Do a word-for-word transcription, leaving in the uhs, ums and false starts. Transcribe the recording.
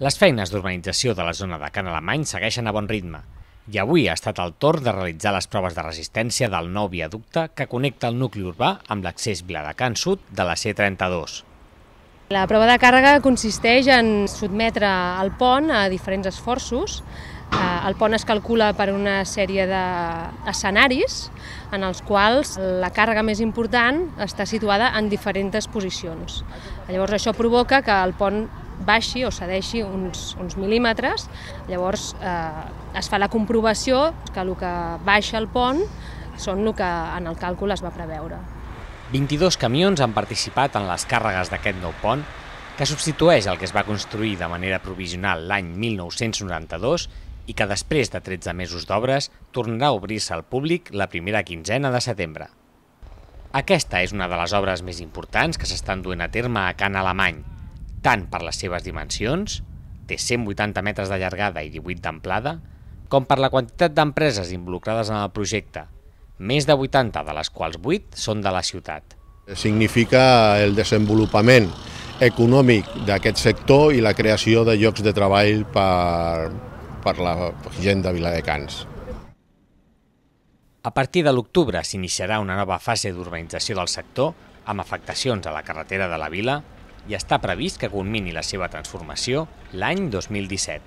Les feines d'urbanització de la zona de Can Alemany segueixen a bon ritme i avui ha estat el torn de realitzar les proves de resistència del nou viaducte que connecta el nucli urbà amb l'accés Viladecans Sud de la C trenta-dos. La prova de càrrega consisteix en sotmetre el pont a diferents esforços. El pont es calcula per una sèrie d'escenaris en els quals la càrrega més important està situada en diferents posicions. Llavors això provoca que el pont baixi o cedeixi uns, uns mil·límetres, llavors eh, es fa la comprovació que el que baixa el pont són el que en el càlcul es va preveure. vint-i-dos camions han participat en les càrregues d'aquest nou pont, que substitueix el que es va construir de manera provisional l'any mil nou-cents noranta-dos i que després de tretze mesos d'obres tornarà a obrir-se al públic la primera quinzena de setembre. Aquesta és una de les obres més importants que s'estan duent a terme a Can Alemany, tant per les seves dimensions, té cent vuitanta metres de llargada i divuit d'amplada, com per la quantitat d'empreses involucrades en el projecte, més de vuitanta de les quals vuit són de la ciutat. Significa el desenvolupament econòmic d'aquest sector i la creació de llocs de treball per, per la gent de Viladecans. A partir de l'octubre s'iniciarà una nova fase d'urbanització del sector amb afectacions a la carretera de la vila i està previst que culmini la seva transformació l'any dos mil disset.